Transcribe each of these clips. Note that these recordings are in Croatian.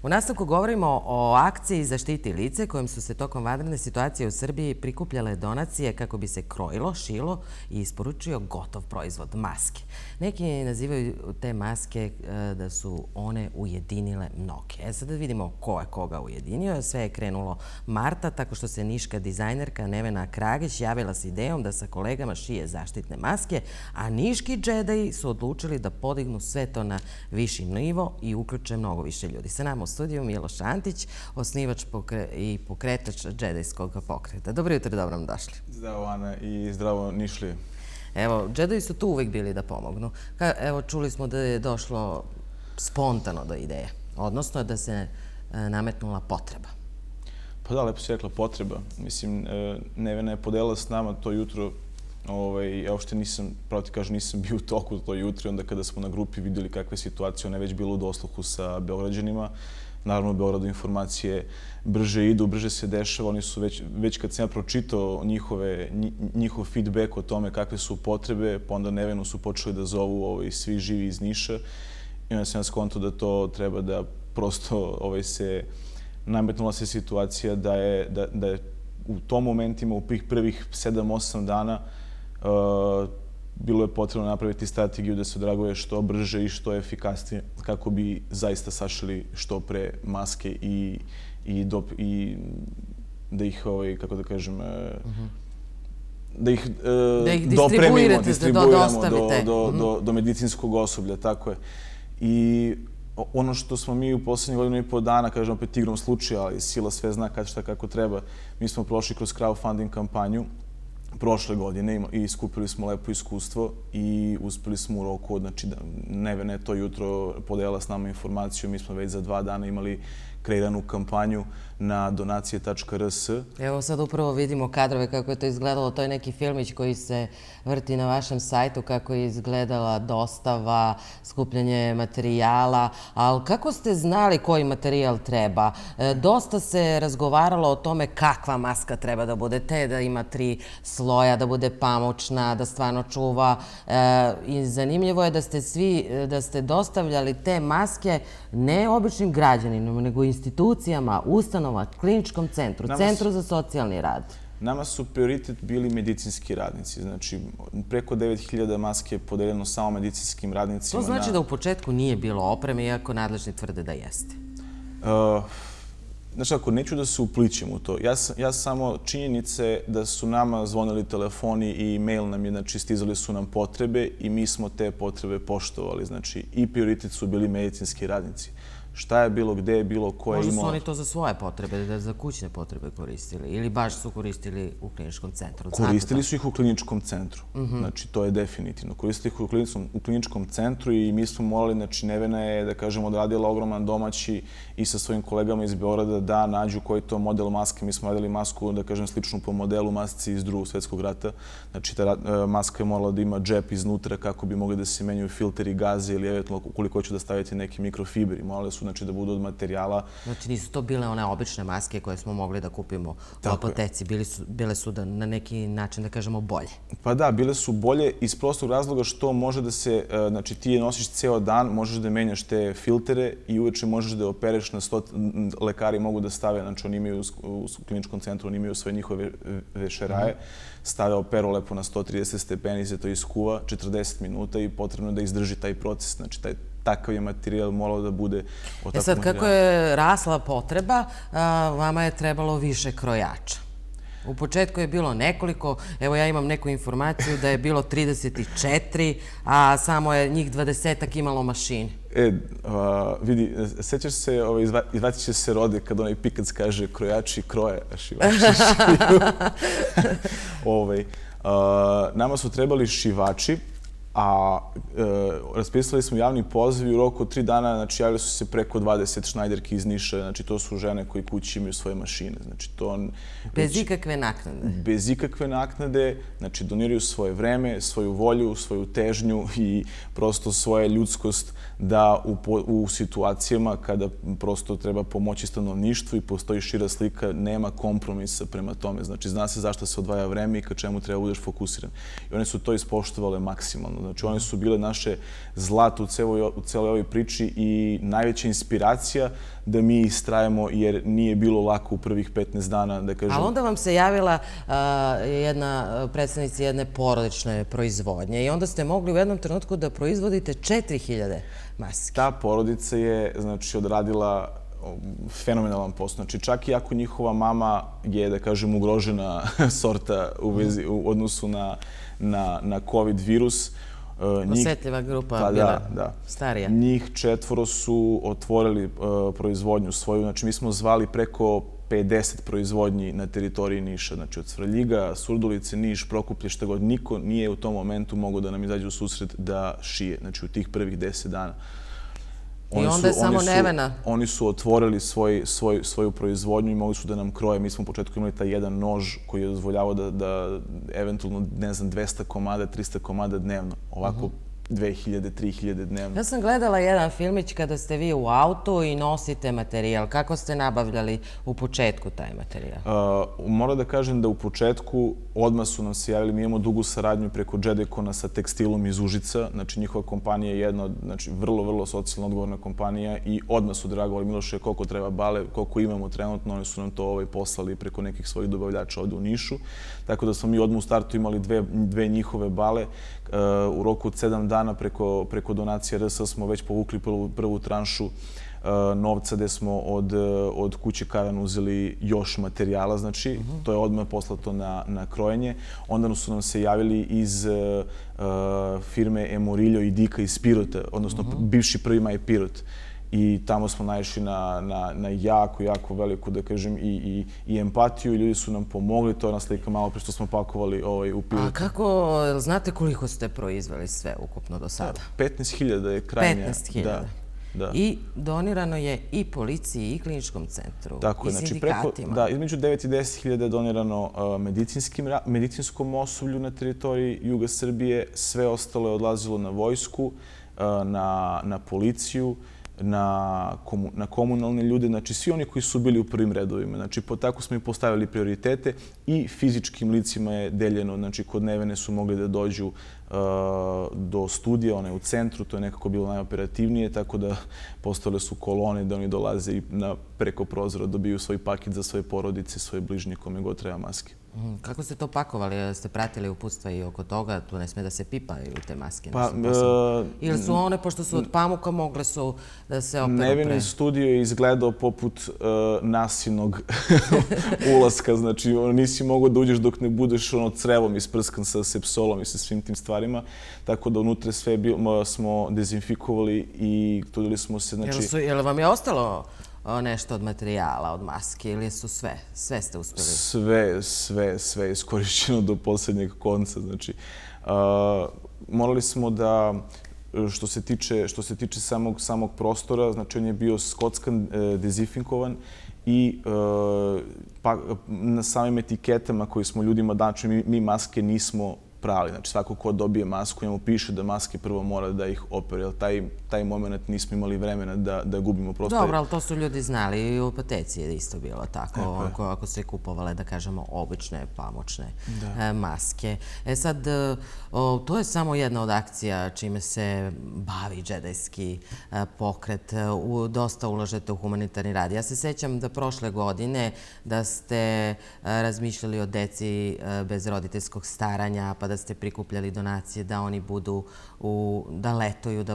U nastavku govorimo o akciji Zaštiti lice kojom su se tokom vanredne situacije u Srbiji prikupljale donacije kako bi se krojilo, šilo i isporučio gotov proizvod maske. Neki nazivaju te maske da su one ujedinile mnoge. Sad da vidimo ko je koga ujedinio. Sve je krenulo marta tako što se niška dizajnerka Nevena Kragić javila s idejom da sa kolegama šije zaštitne maske, a niški džedaji su odlučili da podignu sve to na viši nivo i uključe mnogo više ljudi. Sa nama u studiju Miloš Antić, osnivač i pokretač džedajskog pokreta. Dobro jutro, dobro nam došli. Zdravo, Ana, i zdravo, Nišlije. Evo, džedaji su tu uvijek bili da pomognu. Evo, čuli smo da je došlo spontano do ideje, odnosno da se nametnula potreba. Pa da, lepo si rekla, potreba. Mislim, Nevena je podelila s nama to jutro. Ja uopšte nisam, pravo ti kažem, nisam bio u toku to jutro. Onda kada smo na grupi vidjeli kakva je situacija, ona je već bila u dosluhu sa Beograđanima. Naravno, u Beogradu informacije brže idu, brže se dešava. Oni su već kad sam ja pročitao njihov feedback o tome kakve su potrebe, pa onda Nevenu su počeli da zovu svi živi iz Niša. I onda sam ja skontao da to treba da prosto nametnula se situacija da je u tom momentima, u prvih 7-8 dana, bilo je potrebno napraviti strategiju da se odraguje što brže i što efikasnije kako bi zaista sašili što pre maske i da ih, kako da kažem, da ih dopremimo, distribuiramo do medicinskog osoblja, tako je. I ono što smo mi u poslednjih godinu i po dana, kažem opet igrom slučaja, ali sila sve zna kad šta kako treba, mi smo prošli kroz crowdfunding kampanju prošle godine i skupili smo lepo iskustvo i uspeli smo u roku, znači Nevena je to jutro podelila s nama informaciju, mi smo već za 2 dana imali kreiranu kampanju na donacije.rs. Evo sad upravo vidimo kadrove kako je to izgledalo. To je neki filmić koji se vrti na vašem sajtu, kako je izgledala dostava, skupljanje materijala. Ali kako ste znali koji materijal treba? Dosta se razgovaralo o tome kakva maska treba da bude, da ima 3 sloja, da bude pamučna, da stvarno čuva. I zanimljivo je da ste dostavljali te maske ne običnim građanima, nego institucijama, ustanova, kliničkom centru, centru za socijalni rad. Nama su prioritet bili medicinski radnici. Znači, preko 9000 maske je podeljeno samo medicinskim radnicima. To znači da u početku nije bilo opreme, iako nadležni tvrde da jeste. Znači, ako neću da se uplićem u to, ja samo činjenice da su nama zvonili telefoni i e-mail nam je, znači, stizali su nam potrebe i mi smo te potrebe poštovali. Znači, i prioritet su bili medicinski radnici. Šta je bilo, gde je bilo, ko je imao... Možda su oni to za svoje potrebe, za kućne potrebe koristili ili baš su koristili u kliničkom centru? Koristili su ih u kliničkom centru. Znači, to je definitivno. Koristili ih u kliničkom centru i mi smo morali, znači, Nevena je, da kažem, odradila ogroman domaći i sa svojim kolegama iz Beograda da nađu koji je to model maske. Mi smo radili masku, da kažem, sličnu po modelu masci iz Drugog svjetskog rata. Znači, ta maska je morala da ima džep iznutra kako bi mogli da se menjaju filteri, gaze ili eventualno ukoliko hoću da stavite neki mikrofibri. Morali su, znači, da budu od materijala. Znači nisu to bile one obične maske koje smo mogli da kupimo u apoteci, bile su na neki način, da kažemo, bolje. Pa da, bile su bolje iz prostog razloga što može da se, znači ti je nosiš ceo dan, možeš da menjaš te filtere i uveče možeš da je opereš na 100, lekari mogu da stave, znači oni imaju u kliničkom centru, oni imaju svoje njihove vešeraje, stave operu lepo na 130 stepeni, se to iskuva 40 minuta i potrebno da izdrži taj proces, znači takav je materijal morao da bude od takvog sad, kako je rasla potreba, vama je trebalo više krojača. U početku je bilo nekoliko, evo ja imam neku informaciju da je bilo 34, a samo je njih 20-ak imalo mašine. Vidi, sećaš se, izvacit će se Rode kad onaj Pikac kaže krojači kroje, a šivači šiju. Nama su trebali šivači, a raspisali smo javni poziv i u roku od 3 dana, znači, javili su se preko 20 šnajderki iz Niša, znači, to su žene koji kući imaju svoje mašine, znači, to... Bez ikakve naknade? Bez ikakve naknade, znači, doniraju svoje vreme, svoju volju, svoju težnju i prosto svoje ljudskost da u situacijama kada prosto treba pomoći stanovništvu i postoji šira slika, nema kompromisa prema tome, znači, zna se zašto se odvaja vreme i ka čemu treba budeš fokusiran. I one su to ispoštovale maksimalno. Znači, one su bile naše zlato u celoj ovoj priči i najveća inspiracija da mi istrajemo, jer nije bilo lako u prvih 15 dana, da kažem. Ali onda vam se javila jedna predstavnica jedne porodične proizvodnje i onda ste mogli u jednom trenutku da proizvodite 4000 maski. Ta porodica je, znači, odradila fenomenalan posao. Znači, čak i ako njihova mama je, da kažem, ugrožena sorta u odnosu na COVID virus, osetljiva grupa bila starija. Njih 4 su otvorili proizvodnju svoju. Znači, mi smo zvali preko 50 proizvodnji na teritoriji Niša. Znači, od Svrljiga, Surdulice, Niš, Prokuplje, šta god. Niko nije u tom momentu mogao da nam izađe u susret da šije. Znači, u tih prvih 10 dana. I onda je samo Nevena. Oni su otvorili svoju proizvodnju i mogli su da nam kroje. Mi smo u početku imali taj jedan nož koji je dozvoljavao da eventualno, ne znam, 200 komada, 300 komada dnevno. Ovako 2000, 3000 dnevno. Ja sam gledala jedan filmić kada ste vi u autu i nosite materijal. Kako ste nabavljali u početku taj materijal? Moram da kažem da u početku odmah su nam se javili, mi imamo dugu saradnju preko Jedekona sa tekstilom iz Užica. Znači, njihova kompanija je jedna, znači, vrlo, vrlo socijalno odgovorna kompanija i odmah su dragovali, Miloše, koliko treba bale, koliko imamo trenutno, oni su nam to poslali preko nekih svojih dobavljača ovde u Nišu. Tako da smo mi odmah u startu imali dve njihove bale. U roku od 7 dana preko donacije RS smo već povukli prvu tranšu novca gde smo od kuće Karan uzeli još materijala, znači to je odmah poslato na krojenje. Onda su nam se javili iz firme Emorillo i Dika iz Pirota, odnosno bivši Prvi maj Pirot. I tamo smo naišli na jako, jako veliku, da kažem, i empatiju i ljudi su nam pomogli. To je ona slika malo pre što smo pakovali u Pirotu. A kako, znate koliko ste proizveli sve ukupno do sada? 15.000 je krajnja. 15.000. I donirano je i policiji i kliničkom centru i sindikatima. Da, između 9 i 10.000 je donirano medicinskom osoblju na teritoriji juga Srbije. Sve ostalo je odlazilo na vojsku, na policiju, na komunalne ljude, znači svi oni koji su bili u prvim redovima. Znači, tako smo i postavili prioritete i fizičkim licima je deljeno. Znači, kod Nevene su mogli da dođu do studija, ona je u centru, to je nekako bilo najoperativnije, tako da postale su kolone da oni dolaze i preko prozora dobiju svoj paket za svoje porodice, svoje bližnje, kome god treba maske. Kako ste to pakovali? Ste pratili uputstva i oko toga? Tu ne sme da se pipaju te maske? Ili su one, pošto su od pamuka, mogle su da se operu pre? Nevenin studio je izgledao poput nasilnog ulaska. Znači, nisi mogao da uđeš dok ne budeš crevom isprskan sa sepsolom i sa svim tim stvarima. Tako da unutra sve smo dezinfikovali i trudili smo se... Jel vam je ostalo nešto od materijala, od maske, ili su sve? Sve ste uspeli? Sve je iskorišćeno do poslednjeg konca. Znači, morali smo da, što se tiče samog prostora, znači on je bio skockan, dezinfikovan i na samim etiketama koji smo ljudima dali, mi maske nismo prali. Znači, svako ko dobije masku, njemu piše da maske prvo mora da ih opere, jer taj moment nismo imali vremena da gubimo prostor. Dobro, ali to su ljudi znali i u apoteci je isto bilo tako, ako se kupovale, da kažemo, obične pamučne maske. Sad, to je samo jedna od akcija čime se bavi džedajski pokret. Dosta ulažete u humanitarni rad. Ja se sećam da prošle godine da ste razmišljali o deci bez roditeljskog staranja, pa da ste prikupljali donacije da oni budu, da letuju,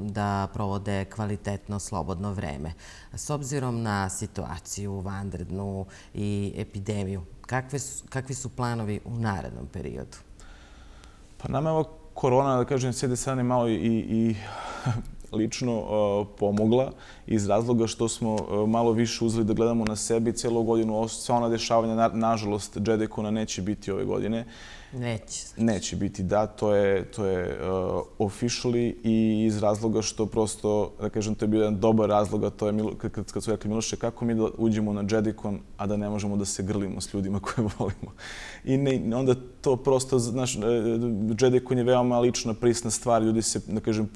da provode kvalitetno, slobodno vreme. S obzirom na situaciju vanrednu i epidemiju, kakvi su planovi u narednom periodu? Pa nama je ova korona, da kažem, s jedne strane malo i lično pomogla iz razloga što smo malo više uzeli da gledamo na sebe i cijelu godinu. Sva ona dešavanja, nažalost, Jedekona neće biti ove godine. Neće biti, da. To je officially i iz razloga što prosto, da kažem, to je bio jedan dobar razlog, a to je kad su rekli, Miloše, kako mi da uđemo na Jedekon, a da ne možemo da se grlimo s ljudima koje volimo. I onda to prosto, znaš, Jedekon je veoma lična, prisna stvar, ljudi se, da kažem,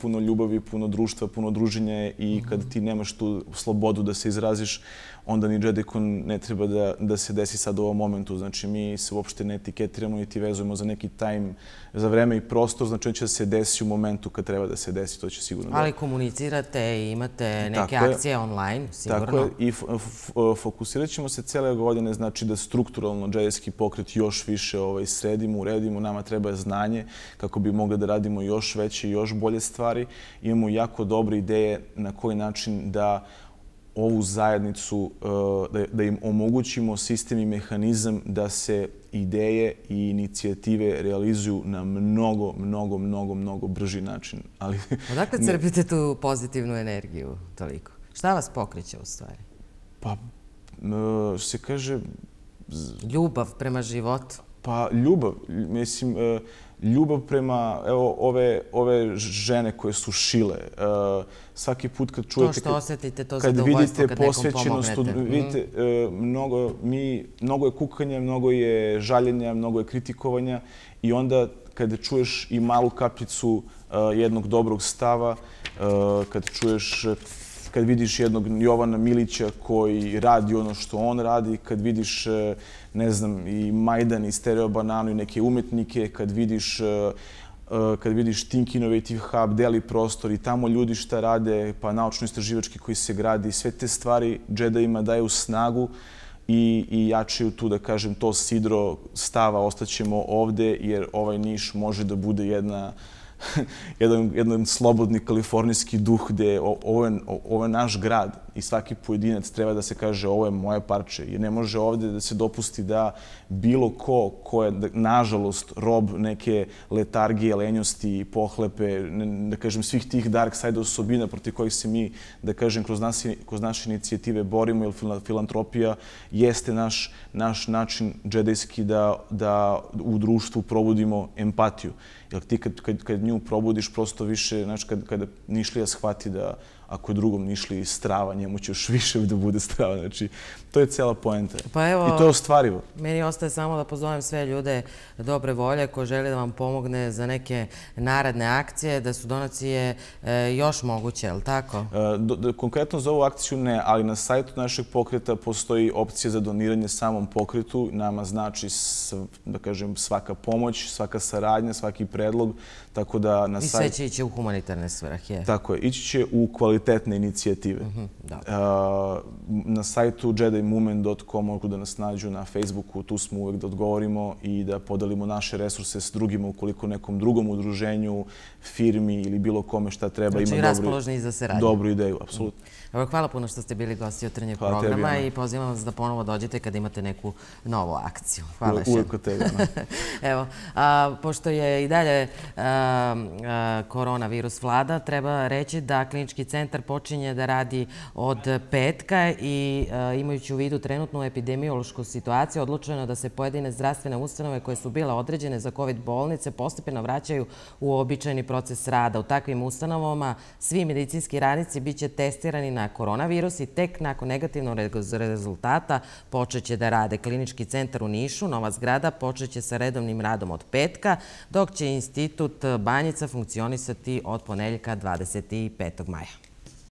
puno ljubavi, puno društva, puno druženja i kad ti nemaš tu slobodu da se izraziš, onda ni JediCon ne treba da se desi sad u ovom momentu. Znači, mi se uopšte ne etiketiramo niti vezujemo za neki time, za vreme i prostor. Znači, on će da se desi u momentu kad treba da se desi, to će sigurno da... Ali komunicirate i imate neke akcije online, sigurno. Tako je, i fokusirat ćemo se cele godine, znači da strukturalno džedijski pokret još više sredimo, uredimo. Nama treba znanje kako bi mogli da radimo još veće i još bolje stvari. Imamo jako dobre ideje na koji način da ovu zajednicu, da im omogućimo sistem i mehanizam da se ideje i inicijative realizuju na mnogo brži način. Odakle crpite tu pozitivnu energiju toliko? Šta vas pokreće u stvari? Pa, se kaže... Ljubav prema životu? Pa, ljubav. Mislim, ljubav prema ove žene koje su šile. Svaki put kad čujete... To što osjetite, to zadovoljstvo kad nekom pomognete. Vidite, mnogo je kukanja, mnogo je žaljenja, mnogo je kritikovanja i onda kada čuješ i malu kapljicu jednog dobrog stava, kad vidiš jednog Jovana Milića koji radi ono što on radi, kad vidiš, ne znam, i Majdan i Stereo Bananu i neke umetnike, kad vidiš Think Innovative Hub, Deli prostor i tamo ljudi šta rade, pa naučno-istraživački koji se gradi, sve te stvari Jedijima daju snagu i jačaju tu, da kažem, to sidro stava, ostaćemo ovde jer ovaj Niš može da bude jedan slobodni kalifornijski duh gde ovo je naš grad i svaki pojedinac treba da se kaže ovo je moje parče. Jer ne može ovde da se dopusti da bilo ko je, nažalost, rob neke letargije, lenjosti, pohlepe, da kažem, svih tih dark side osobina protiv kojih se mi, da kažem, kroz naše inicijative borimo, jer filantropija jeste naš način džedejski da u društvu probudimo empatiju. Jer ti kad nju probudiš, prosto više, znači kada Nišlija shvati da ako je drugom Nišliji strava, njemu će još više da bude strava. Znači, to je cela poenta. I to je ostvarivo. Meni ostaje samo da pozovem sve ljude dobre volje koji žele da vam pomogne za neke naredne akcije, da su donacije još moguće, je li tako? Konkretno za ovu akciju ne, ali na sajtu našeg pokreta postoji opcija za doniranje samom pokretu. Nama znači, da kažem, svaka pomoć, svaka saradnja, svaki predlog. Tako da na sajtu... I sve će ići u humanitarne svrhe. Tako je. Ići će u kvalitetne inicijative. Na sajtu jedimovement.com mogu da nas nađu, na Facebooku, tu smo uvek da odgovorimo i da podelimo naše resurse s drugima ukoliko nekom drugom udruženju, firmi ili bilo kome šta treba ima dobru ideju. Apsolutno. Hvala puno što ste bili gosti Jutarnjeg programa i pozivam vas da ponovo dođete kad imate neku novu akciju. Hvala še. Uvijek od tebe. Evo, pošto je i dalje koronavirus vlada, treba reći da klinički centar počinje da radi od petka i imajući u vidu trenutnu epidemiološku situaciju, odlučeno da se pojedine zdravstvene ustanove koje su bile određene za COVID bolnice postepeno vraćaju u običajni proces rada. U takvim ustanovama svi medicinski radnici bit će testirani na koronavirus i tek nakon negativnog rezultata počeće da rade. Klinički centar u Nišu, nova zgrada, počeće sa redovnim radom od petka, dok će Institut Banjica funkcionisati od ponedeljka 25. maja.